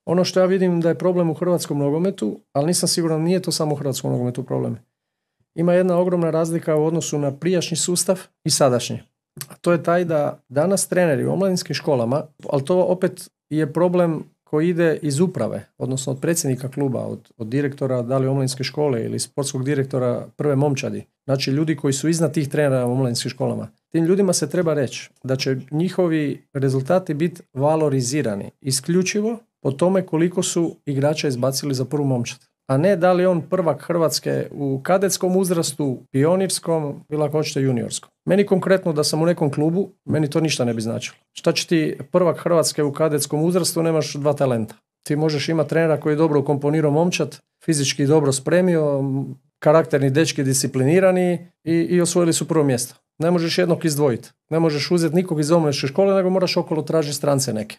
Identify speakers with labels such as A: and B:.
A: Ono što ja vidim da je problem u hrvatskom nogometu, ali nisam siguran, nije to samo u hrvatskom nogometu problem. Ima jedna ogromna razlika u odnosu na prijašnji sustav i sadašnji. A to je taj da danas treneri u omladinskim školama, ali to opet je problem koji ide iz uprave, odnosno od predsjednika kluba, od direktora da li omladinske škole ili sportskog direktora prve momčadi. Znači ljudi koji su iznad tih trenera u omladinskim školama. Tim ljudima se treba reći da će njihovi rezultati biti valorizirani isključivo po tome koliko su igrača izbacili za prvu momčad. A ne da li on prvak Hrvatske u kadetskom uzrastu, pionirskom ili ako hoćete juniorskom. Meni konkretno da sam u nekom klubu, meni to ništa ne bi značilo. Šta će ti prvak Hrvatske u kadetskom uzrastu, nemaš 2 talenta. Ti možeš imati trenera koji je dobro ukomponirao momčad, fizički dobro spremio, karakterni dečki disciplinirani i osvojili su prvo mjesto. Ne možeš jednog izdvojiti. Ne možeš uzeti nikog iz omladinske škole, nego moraš okolo tražiti strance neke.